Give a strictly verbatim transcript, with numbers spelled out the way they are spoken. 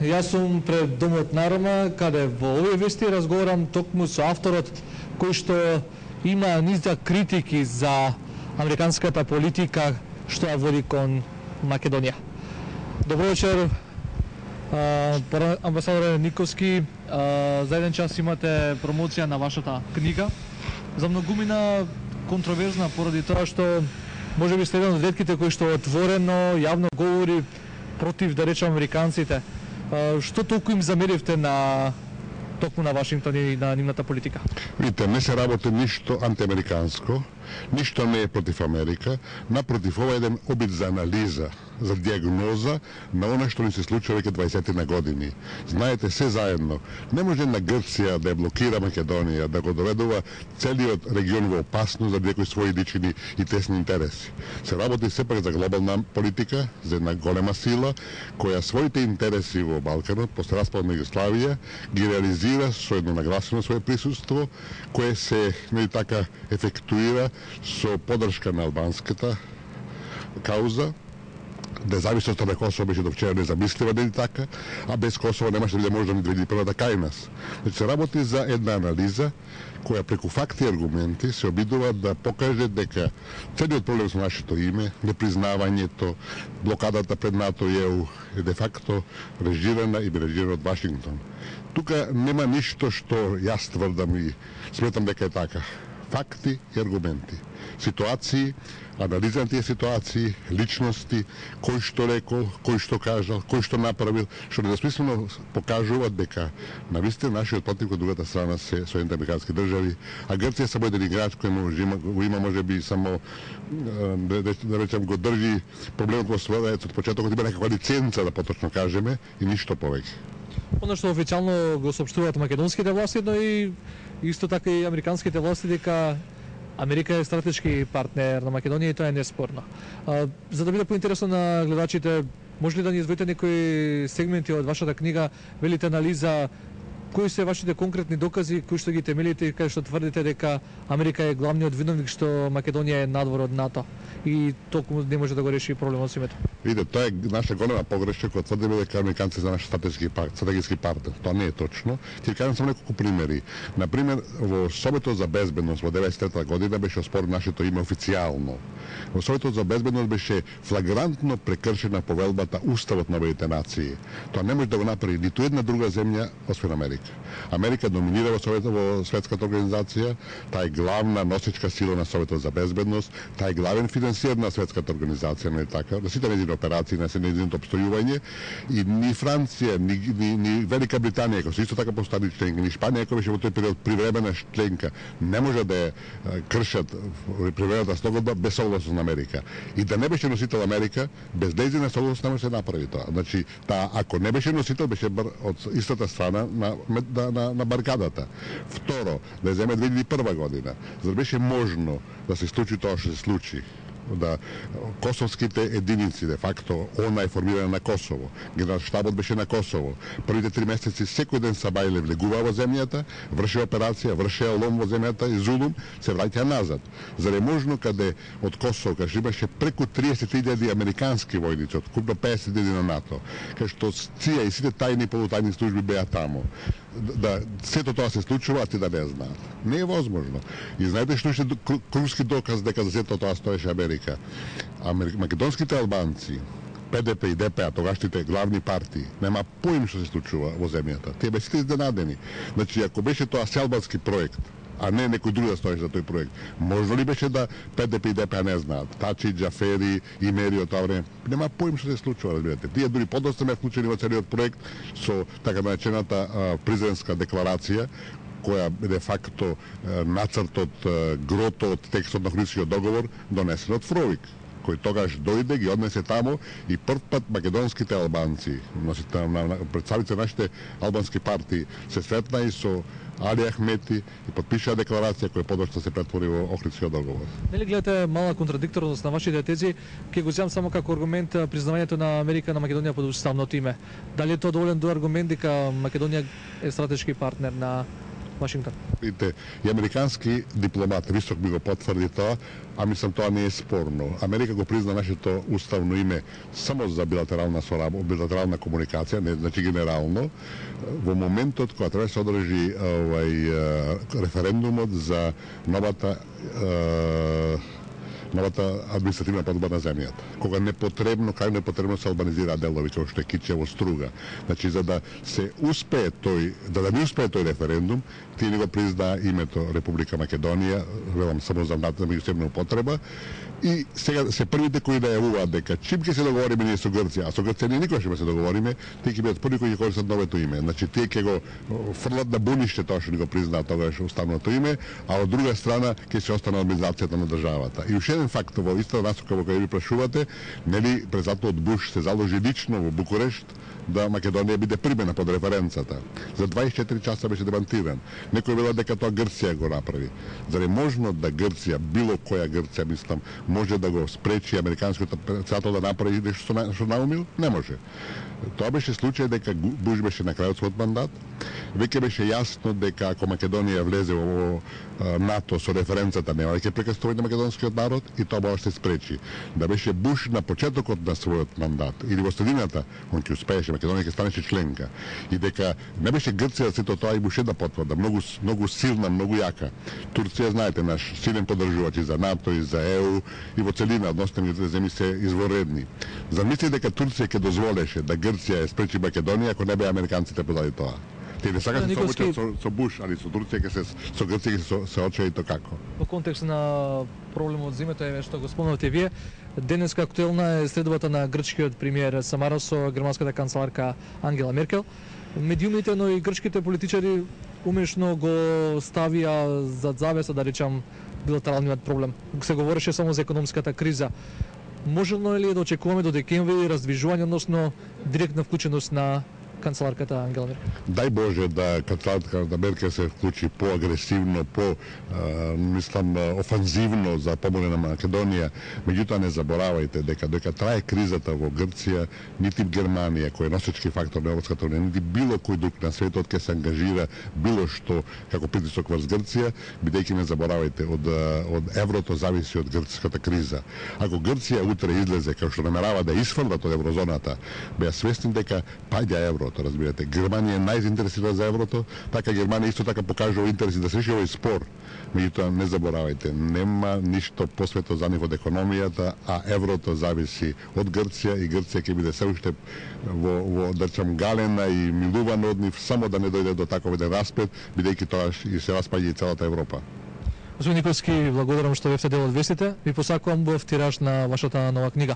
Јас сум пред Домот на Рома, каде во овие вести разговарам токму со авторот кој што има низа критики за американската политика што ја води кон Македонија. Добро вечер, амбасадоре Никовски. За еден час имате промоција на вашата книга. За многумина контроверзна поради тоа што може би сте еден од ретките кои што отворено, јавно говори против, да речем, американците. Што толку им замеривте на токму на Вашингтон и на нивната политика? Видите, не се работи ништо антиамериканско, ништо не е против Америка, напротив, ова е еден обид за анализа, за диагноза на она што ни се случува веќе дваесет години. Знаете, се заедно, не може на Грција да ја блокира Македонија, да го доведува целиот регион во опасност за некои своји лични и тесни интереси. Се работи сепак за глобална политика, за една голема сила, која своите интереси во Балканот, после распад на Југославија, ги реализира со едно нагласено своје присуство, кое се, нели така, ефектуира со подршка на албанската кауза. Независноста на Косово беше до вчера незамислива, нели така, а без Косово немаше да може да ни две илјади и прва кај нас. Значи се работи за една анализа која преку факти и аргументи се обидува да покаже дека целиот проблем со нашето име, непризнавањето, блокадата пред НАТО и Е У е де факто режирана и режирана од Вашингтон. Тука нема ништо што јас тврдам и сметам дека е така. Факти и аргументи, ситуации, анализа на тие ситуации, личности, кој што рекол, кој што кажал, кој што направил, што недвосмислено покажуваат дека навистина нашиот противник од другата страна се Соединените американски држави, а Грција само еден играч кој може има, го има можеби само да, да речем го држи проблемот во својот од почетокот, има некаква лиценца да поточно кажеме и ништо повеќе. Оно што официјално го соопштуваат македонските власти, но и исто така и американските власти дека Америка е стратешки партнер на Македонија и тоа е неспорно. А, за да биде поинтересно на гледачите, може ли да ни извоите некои сегменти од вашата книга, велите анализа, кои се вашите конкретни докази, кои што ги темелите и кај што тврдите дека Америка е главниот виновник што Македонија е надвор од НАТО и толку не може да го реши проблемот со името? Видите, тоа е наша голема погрешка кога тврдиме дека американци се наш стратешки партнер, стратешки партнер. Тоа не е точно. Ќе кажам само неколку примери. На пример, во Советот за безбедност во деветдесет и трета година беше оспорено нашето име официјално. Во Советот за безбедност беше флагрантно прекршена повелбата Уставот на Обединетите нации. Тоа не може да го направи ниту една друга земја освен Америка. Америка доминира во Советот во светската организација, таа е главна носечка сила на Советот за безбедност, таа е главен финансиер на светската организација, не така, на сите нејзини операции, на нејзиното опстојување, и ни Франција, ни, ни, ни Велика Британија, кој се исто така постани членка, ни Шпанија, кој беше во тој период привремена членка, не може да ја кршат привремената спогодба без согласност на Америка. И да не беше носител Америка, без нејзина согласност не може да се направи тоа. Значи, таа ако не беше носител, беше од истата страна на на, на, на баркадата. Второ, да земе две илјади и прва година, за да беше можно да се случи тоа што се случи, да косовските единици, де факто, она е формирана на Косово, генералштабот беше на Косово, првите три месеци секој ден Сабајле влегува во земјата, врши операција, врши лом во земјата и Зулум се враќа назад. За да е можно каде од Косово, каде имаше преку триесет илјади американски војници, од купно песет илјади на НАТО, каде што ЦИА и сите тајни и полутајни служби беа таму, да сето тоа се случува, а ти да не знаат. Не е возможно. И знаете што ще круски доказ дека за сето тоа стоеше Америка. Македонските албанци, Пе Де Пе и Де Пе, тогашните главни партии, нема поим што се случува во земјата. Тие беа сите изненадени. Значи, ако беше тоа селбански проект, а не некој друг да стоеше за тој проект, можно ли беше да Пе Де Пе и Де Пе не знаат? Тачи, Џафери, Имери од тоа време, нема поим што се случува, разбирате. Тие дури подоста ме вклучени во целиот проект со така наречената Призренска декларација, која де факто нацртот, грото од текстот на Охридскиот договор донесен од Фровик, кој тогаш дојде, ги однесе тамо и прв пат македонските албанци, представите нашите албански партии, се сретна и со Али Ахмети и подпиша декларација која подошто се претвори во Охридскиот договор. Нели гледате мала контрадикторност на вашите тези? Ќе го земам само како аргумент признавањето на Америка на Македонија под уставното име. Дали е тоа доволен до аргумент дека Македонија е стратешки партнер на Вашингтон. Видите, и американски дипломат висок би го потврди тоа, а мислам тоа не е спорно. Америка го призна нашето уставно име само за билатерална соработа, билатерална комуникација, не значи генерално, во моментот кога треба да се одржи овај референдумот за новата е, новата административна подоба на земјата. Кога непотребно, кај непотребно се албанизираат делови како што е Кичево, Струга. Значи за да се успее тој, да да не успее тој референдум, тие не го признаа името Република Македонија, велам само за меѓусебна употреба. И сега се првите кои најавуваат дека чим ќе се договориме ние со Грција, а со Грција ние никогаш ќе се договориме, тие ќе бидат први кои ќе користат новото име. Значи тие ќе го фрлат на буниште тоа што не го признаат тогаш уставното име, а од друга страна ќе се остане администрацијата на државата. И уште еден факт во истата насока во која ви прашувате, нели председателот Буш се заложи лично во Букурешт да Македонија биде примена под референцата. За дваесет и четири часа беше демантиран. Некој велат дека тоа Грција го направи. Зар е можно да Грција, било која Грција, мислам, може да го спречи американскиот председател да направи нешто што наумил? Не може. Тоа беше случај дека Буш беше на крајот својот мандат. Веќе беше јасно дека ако Македонија влезе во НАТО со референцата нема ќе прекратување на македонскиот народ и тоа може да се спречи. Да беше Буш на почетокот на својот мандат или во средината, он ќе успееше, Македонија ќе станеше членка. И дека не беше Грција сето тоа и Буше да потврда, многу многу силна, многу јака. Турција, знаете, наш силен поддржувач и за НАТО и за Е У и во целина односните земји се изворедни. Замисли дека Турција ќе дозволеше да Грција ја спречи Македонија ако не беа американците подали тоа. Тие не сакаат да се соочат со, со Буш, али со Турција ќе се со Грција ќе се соочат и то како. Во контекст на проблемот зимето е што го спомнавте вие, денеска актуелна е следбата на грчкиот премиер Самарас со германската канцеларка Ангела Меркел. Медиумите, но и грчките политичари умешно го ставија зад завеса, да речам, билатералниот проблем. Се говореше само за економската криза. Можелно е ли да очекуваме до декември раздвижување, односно директна вклученост на канцеларката Ангела Меркел? Дај Боже да канцеларката Меркел се вклучи поагресивно, по мислам офанзивно за помога на Македонија. Меѓутоа не заборавајте дека дека трае кризата во Грција, нити Германија кој е носечки фактор на Европската унија, нити било кој друг на светот ќе се ангажира било што како притисок врз Грција, бидејќи не заборавајте од од еврото зависи од грчката криза. Ако Грција утре излезе како што намерава да исфрлат од еврозоната, беа свесни дека паѓа еврото. Разбирате, Германија е најзаинтересирана за еврото, така Германија исто така покажува интереси да се реши овој спор. Меѓутоа не заборавајте, нема ништо посвето за нив од економијата, а еврото зависи од Грција и Грција ќе биде се уште во, во да речам галена и милувана од нив, само да не дојде до таков еден распет, бидејќи тоа и се распаѓа и целата Европа. Господин Николски, благодарам што бевте дел од вестите. Ви посакувам убав тираж на вашата нова книга.